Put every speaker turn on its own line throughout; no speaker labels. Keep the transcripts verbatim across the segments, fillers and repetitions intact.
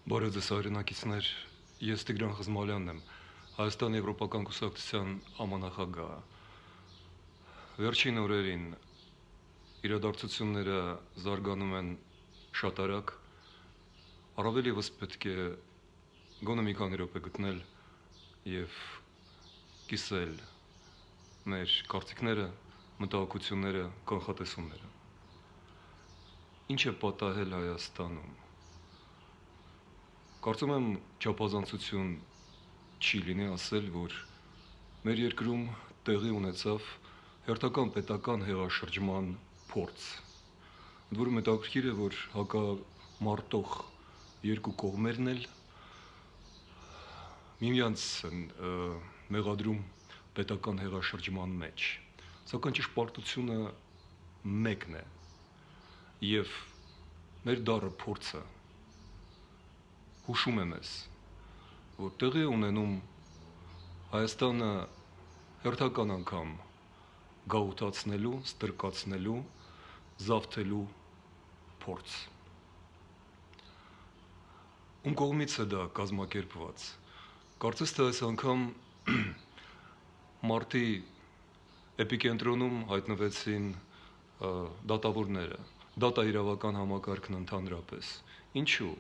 Բարև ձեզ հայրենակիցներ, ես Տիգրան Խզմալյանն եմ, Հայաստան Եվրոպական կուսակցության համանախագահը։ Վերջին օրերին իրադարձությունները զարգանում են շատ արագ, առավել ևս պետք է գոնե մի քանի րոպե գտնել եւ կիսել մեր կարծիքները, մտահոգությունները, կանխատեսումները։ Ինչ է պատահել Հայաստանում։ Կարծում եմ չափազանցություն չի լինի ասել, որ մեր երկրում տեղի ունեցավ հերթական պետական հեղաշրջման փորձ։ Ընդ որում հետաքրքիր է, որ հակամարտող երկու կողմերն էլ միմյանց են մեղադրում պետական հեղաշրջման մեջ, սակայն ճշմարտությունը մեկն է, եւ մեր դառը փորձը հուշում է մեզ, որ տեղի ունենում Հայաստանը հերթական անգամ գաղութացնելու, ստրկացնելու, զավթելու փորձ։ Ում կողմից է դա կազմակերպված։ Կարծես թե այս անգամ մարտի էպիկենտրոնում հայտնվեցին դատավորները, դատաիրավական համակարգն ընդհանրապես։ Ինչու՞։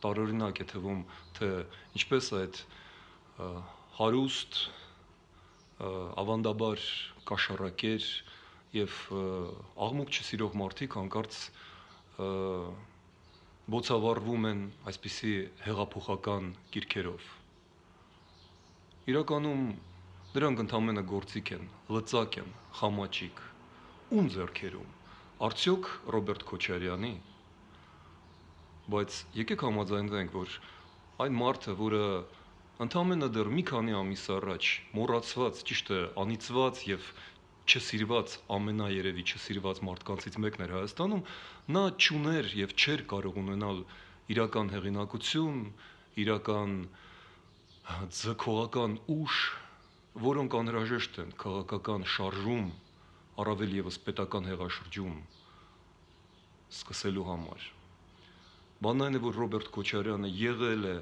Տարօրինակ է թվում, թե ինչպես այդ հարուստ, ավանդաբար կաշառակեր եւ աղմուկ չսիրող մարդիկ հանկարծ բոցավառվում են այսպիսի հեղափոխական կիրքերով։ Իրականում դրանք ընդամենը գործիք են, լծակ են, խամաճիկ։ Ում ձեռքերում։ Արդյոք Ռոբերտ Քոչարյանի։ Բայց եկեք համաձայնվենք, որ այն մարդը, որը ընդամենը դեռ մի քանի ամիս առաջ մոռացված, ճիշտ է, անիծված եւ չսիրված, ամենաերևի չսիրված մարդկանցից մեկն էր Հայաստանում, նա չուներ եւ չէր կարող ունենալ իրական հեղինակություն, իրական ձգողական ուժ, որոնք անհրաժեշտ են քաղաքական շարժում, առավել ևս պետական հեղաշրջում սկսելու համար։ Բանն այն է, որ Ռոբերտ Քոչարյանը եղել է,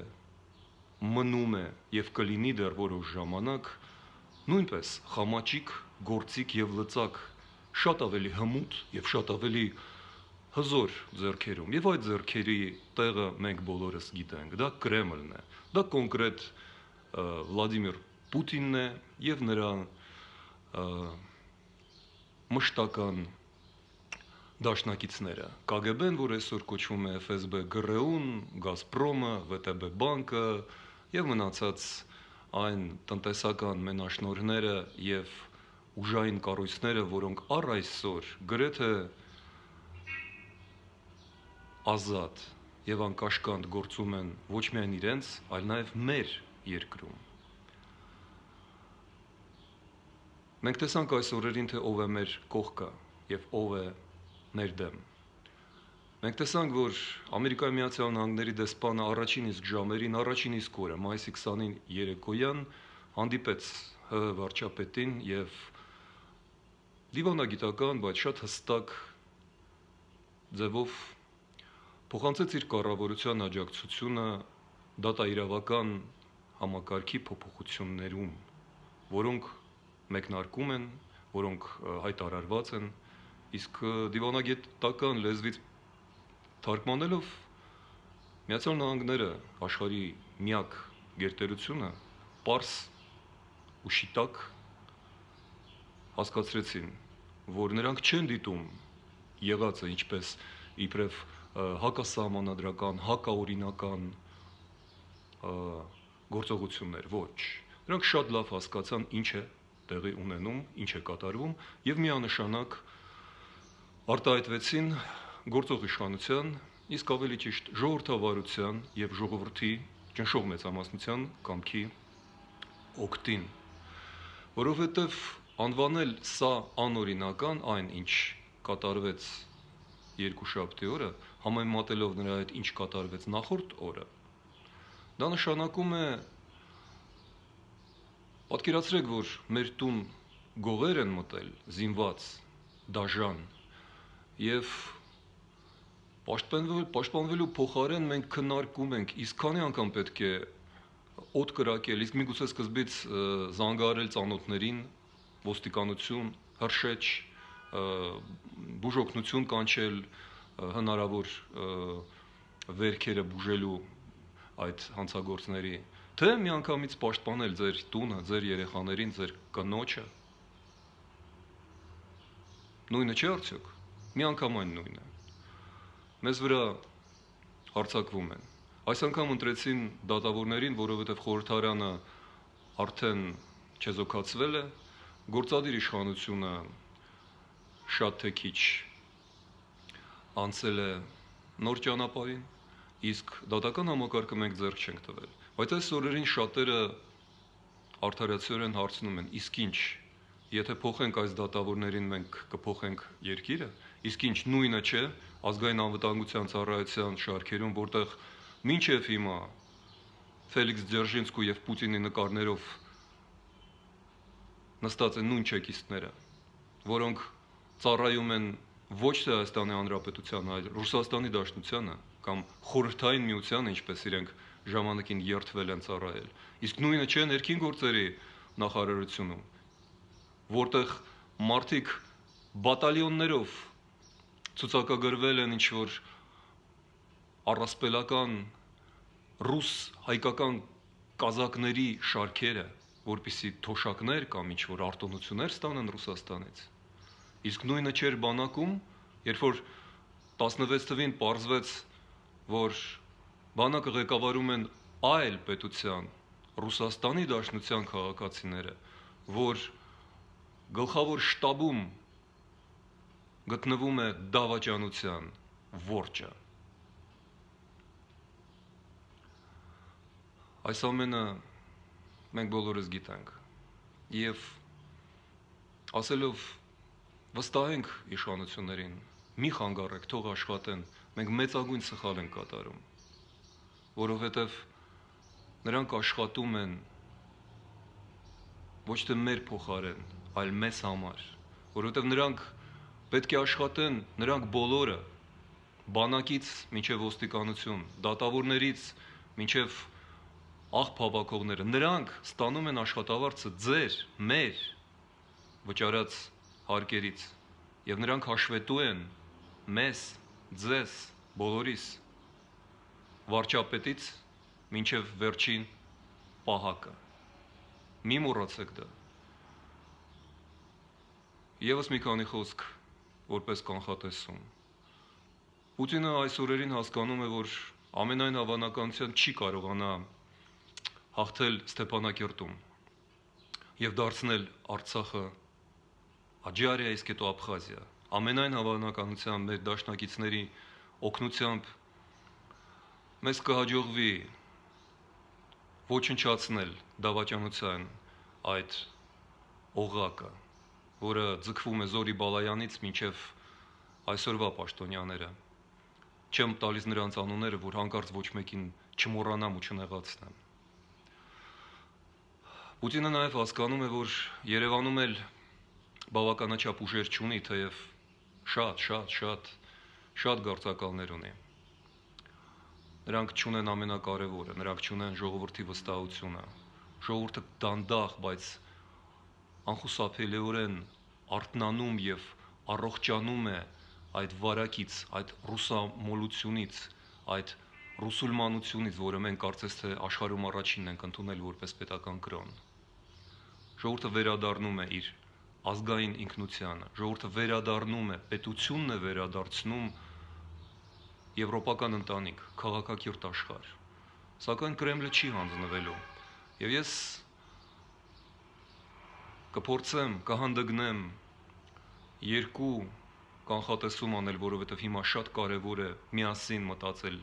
մնում է եւ կլինի դեռ որոշ ժամանակ նույնպես խամաճիկ, գործիք եւ լծակ, շատ ավելի հմուտ եւ շատ ավելի հզոր ձեռքերում։ Եվ այդ ձեռքերի տեղը մենք բոլորս գիտենք, դա Կրեմլն է, դա կոնկրետ Վլադիմիր Պուտինն է եւ նրա մշտական դաշնակիցները, Կ Գ Բ-ն, որ այսօր կոչվում է Ֆ S B ԳՌՈ-ն, Գազպրոմը, V T B բանկը եւ մնացած այն տնտեսական մենաշնորհները եւ ուժային կառույցները, որոնք առ այսօր գրեթե ազատ եւ անկաշկանդ գործում են ոչ միայն իրենց, այլ նաեւ մեր երկրում։ Մենք տեսանք այս օրերին, թե ով է մեր կողքը եւ ով է մեր դեմ։ Մենք տեսանք, որ Ամերիկայի Միացյալ Նահանգների դեսպանը առաջին իսկ ժամերին, առաջին իսկ օրը, մայիսի քսանինը երեկոյան հանդիպեց Հ վարչապետին եւ դիվանագիտական, բայց շատ հստակ ձևով փոխանցեց իր կառավարության աջակցությունը դատաիրավական համակարգի փոփոխություններում, որոնք մեկնարկում են, որոնք հայտարարված են, իսկ դիվանագիտական լեզվից թարգմանելով Միացյալ Նահանգները աշխարհի միակ գերտերությունը պարզ ու շիտակ հասկացրեցին, որ նրանք չեն դիտում եղածը ինչպես իբրև հակասահմանադրական, հակաօրինական գործողություններ, ոչ։ Նրանք շատ լավ հասկացան ինչ է տեղի ունենում, ինչ է կատարվում եւ միանշանակ արտահայտվեցին գործող իշխանության, իսկ ավելի ճիշտ ժողովրդավարության եւ ժողովրդի ճնշող մեծամասնության կամքի օգտին, որովհետեւ անվանել սա անօրինական այն, ինչ կատարվեց երկուշաբթի օրը, համեմատելով նրա հետ ինչ կատարվեց նախորդ օրը, դա նշանակում է պատկերացրեք, որ մեր տուն գողեր են մտել, զինված, դաժան եւ Պաշտպանվելու, պաշտպանվելու փոխարեն մենք քննարկում ենք, իսկ քանի անգամ պետք է օդ կրակել, իսկ միգուցե սկզբից զանգահարել ծանոթներին, ոստիկանություն, հրշեջ, բուժօգնություն կանչել հնարավոր վերքերը բուժելու այդ հանցագործների, թե միանգամից պաշտպանել ձեր տունը, ձեր երեխաներին, ձեր կնոջը։ Նույնը չէ արդյոք։ Միանգամայն նույնն է։ Մեզ վրա հարձակվում են։ Այս անգամ ընտրեցին դատավորներին, որովհետև խորհրդարանը արդեն չեզոքացվել է, գործադիր իշխանությունը շատ թե քիչ անցել է նոր ճանապարհին, իսկ դատական համակարգը մենք ձեռք չենք տվել։ Բայց այս օրերին շատերը արդարացիորեն հարցնում են, իսկ ինչ, եթե փոխենք այս դատավորներին, մենք կփոխենք երկիրը, իսկ ինչ նույնը չէ ազգային անվտանգության ծառայության շարքերում, որտեղ մինչև հիմա Ֆելիքս Ձերժինսկու եւ Պուտինի նկարներով նստած են նույն չեկիստները, որոնք ծառայում են ոչ թե Հայաստանի Հանրապետությանը, այլ Ռուսաստանի Դաշնությանը կամ Խորհրդային Միությանը, ինչպես իրենք ժամանակին երթվել են ծառայել։ Իսկ նույնը չէ ներքին գործերի նախարարությունում, որտեղ մարդիկ բատալիոններով ցուցակագրվել են ինչ-որ առասպելական ռուս հայկական կազակների շարքերը, որպիսի թոշակներ կամ ինչ-որ արտոնություններ ստանան Ռուսաստանից։ Իսկ նույնը չէր բանակում, երբ որ տասնվեց թվին պարզվեց, որ բանակը ղեկավարում են այլ պետության, Ռուսաստանի Դաշնության քաղաքացիները, որ գլխավոր շտաբում գտնվում է դավաճանության որջը։ Այս ամենը մենք բոլորս գիտենք եւ ասելով վստահենք իշխանություններին, մի խանգարեք, թող աշխատեն, մենք մեծագույն սխալ ենք կատարում, որովհետեւ նրանք աշխատում են ոչ թե մեր փոխարեն, այլ մեզ համար, որովհետեւ նրանք պետք է աշխատեն, նրանք բոլորը, բանակից մինչև ոստիկանություն, դատավորներից մինչև աղբ հավաքողները, նրանք ստանում են աշխատավարձը ձեր, մեր վճարած հարկերից եւ նրանք հաշվետու են մեզ, ձեզ, բոլորիս վարչապետից մինչև վերջին պահակը։ Մի մոռացեք դա։ Եվս մի քանի խոսք որպես կանխատեսում։ Պուտինը այս օրերին հասկանում է, որ ամենայն հավանականությամբ չի կարողանա հաղթել Ստեփանակերտում եւ դարձնել Արցախը Աջարիա, իսկ հետո Աբխազիա։ Ամենայն հավանականությամբ մեր դաշնակիցների օգնությամբ մեզ կհաջողվի ոչնչացնել դավաճանության այդ օղակը, որը ձգվում է Զորի Բալայանից մինչև այսօրվա պաշտոնյաները։ Չեմ տալիս նրանց անունները, որ հանկարծ ոչ մեկին չմոռանամ ու չնեղացնեմ։ Պուտինը նաև հասկանում է, որ Երևանում էլ բավականաչափ ուժեր չունի, թեև շատ, շատ, շատ, շատ գործակալներ ունի։ Նրանք չունեն ամենակարևորը, նրանք չունեն ժողովրդի վստահությունը։ Ժողովուրդը դանդաղ, բայց անխուսափելիորեն արթնանում եւ առողջանում է այդ վարակից, այդ ռուսամոլությունից, այդ ռուսուլմանությունից, որը մենք կարծես թե աշխարհում առաջինն ենք ընդունել որպես պետական կրոն։ Ժողովուրդը վերադառնում է իր ազգային ինքնությանը, ժողովուրդը վերադառնում է, պետությունն է վերադարձնում եվրոպական ընտանիք, քաղաքակիրթ աշխարհ։ Սակայն Կրեմլը չի հանձնվելու։ Եվ ես կփորձեմ, կհանդգնեմ երկու կանխատեսում անել, որովհետև հիմա շատ կարևոր է միասին մտածել,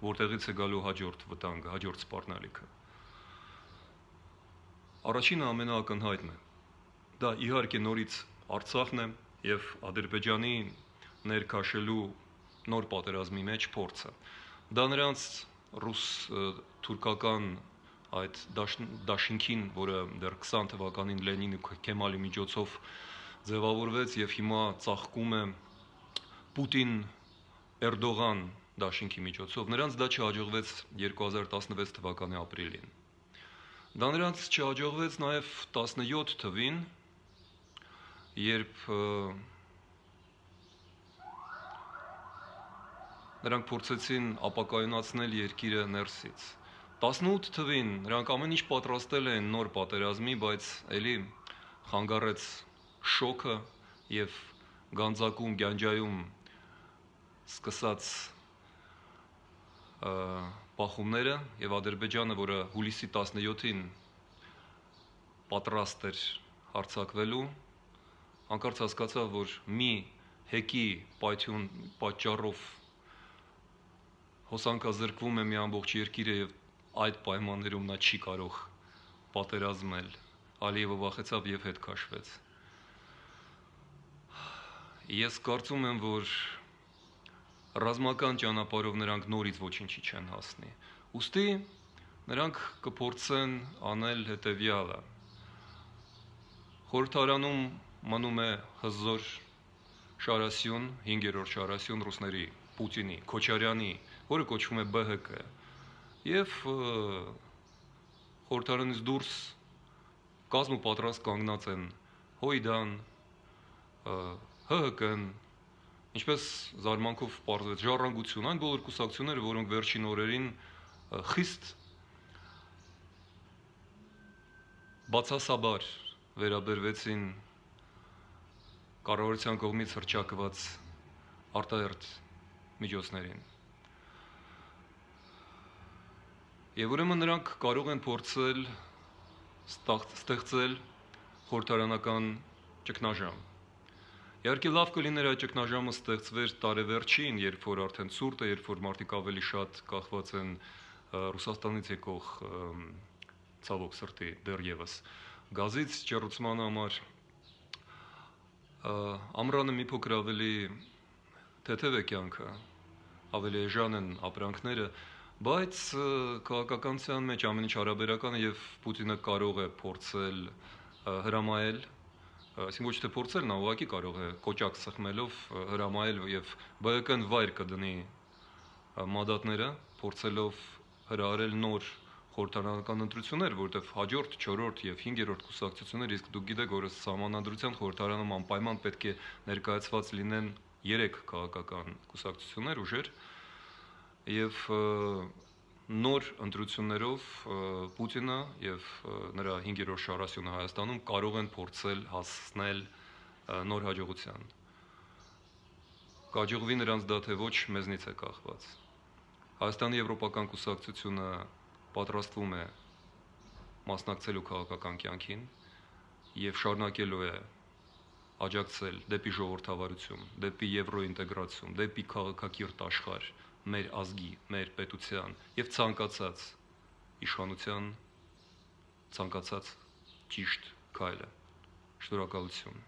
որտեղից է գալու հաջորդ վտանգը, հաջորդ սպառնալիքը։ Առաջինը ամենաակնհայտն է։ Դա իհարկե նորից Արցախն է եւ Ադրբեջանի ներքաշելու նոր պատերազմի մեջ փորձը։ Դա նրանց ռուս-թուրքական այդ դաշինքին, որը դեռ քսան թվականին Լենինի Քեմալի միջոցով ձևավորվեց եւ հիմա ծաղկում է Պուտին Էրդողան դաշինքի միջոցով, նրանց դա չհաջողվեց երկու հազար տասնվեց թվականի ապրիլին։ Դա նրանց չհաջողվեց նաև տասնյոթ թվին, երբ նրանք փորձեցին ապակայունացնել երկիրը ներսից։ տասնութ թվին նրանք ամեն ինչ պատրաստել են նոր պատերազմի, բայց էլի խանգարեց շոկը եւ Գանձակում, Գյանջայում սկսած բախումները եւ Ադրբեջանը, որը հուլիսի տասնյոթին պատրաստ էր հարձակվելու, հանկարծ հասկացավ, որ մի հեկի պայթյուն պատճառով հոսանքազրկվում է մի ամբողջ երկիրը եւ այդ պայմաններում նա չի կարող պատերազմել։ Ալիևը վախեցավ եւ հետ քաշվեց։ Ես կարծում եմ, որ ռազմական ճանապարհով նրանք նորից ոչինչի չեն հասնի։ Ուստի նրանք կփորձեն անել հետեւյալը։ Խորհրդարանում մնում է հզոր շարասյուն, հինգերորդ շարասյուն ռուսների, Պուտինի, Քոչարյանի, որը կոչվում է B H K, եւ խորհրդարանից դուրս կազմ ու պատրաստ կանգնած են Հույդան, H H K-ն, ինչպես զարմանքով պարզվեց, Ժառանգություն, այն բոլոր կուսակցությունները, որոնք վերջին օրերին խիստ բացասաբար վերաբերվեցին կառավարության կողմից հռչակված արտահերթ միջոցներին։ Եվ ուրեմն նրանք կարող են փորձել ստեղծել խորհրդարանական ճգնաժամ։ Իհարկե լավ կլիներ այդ ճգնաժամը ստեղծվեր տարեվերջին, երբ որ արդեն ցուրտ է, երբ որ մարդիկ ավելի շատ կախված են Ռուսաստանից եկող ցավոք սրտի դեռևս գազից ջեռուցման համար, ամռանը մի փոքր ավելի թեթև է կյանքը, ավելի էժան են ապրանքները, բայց քաղաքականության մեջ ամեն ինչ հարաբերական է եւ Պուտինը կարող է փորձել հրամայել, այսինքն ոչ թե փորձել, նա ուղղակի կարող է կոճակ սխմելով հրամայել եւ B H K-ն վայր կդնի մանդատները, փորձելով հրահարել նոր խորհրդարանական ընտրություններ, որտեղ հաջորդ, չորրորդ եւ հինգերորդ կուսակցություններ, իսկ դուք գիտեք, որ Սահմանադրության խորհրդարանում անպայման պետք է ներկայացված լինեն երեք քաղաքական կուսակցություններ, ուժեր, եւ նոր ընտրություններով Պուտինը եւ նրա հինգերորդ շարասյունը Հայաստանում կարող են փորձել հասնել նոր հաջողության։ Կհաջողվի նրանց դա թե ոչ, մեզնից է կախված։ Հայաստանի եվրոպական կուսակցությունը պատրաստվում է մասնակցելու քաղաքական կյանքին եւ շարունակելու է աջակցել դեպի ժողովրդավարություն, դեպի եվրոինտեգրացիա, դեպի քաղաքակիրթ աշխարհ մեր ազգի, մեր պետության եւ ցանկացած իշխանության ցանկացած ճիշտ քայլը։ Շնորհակալություն։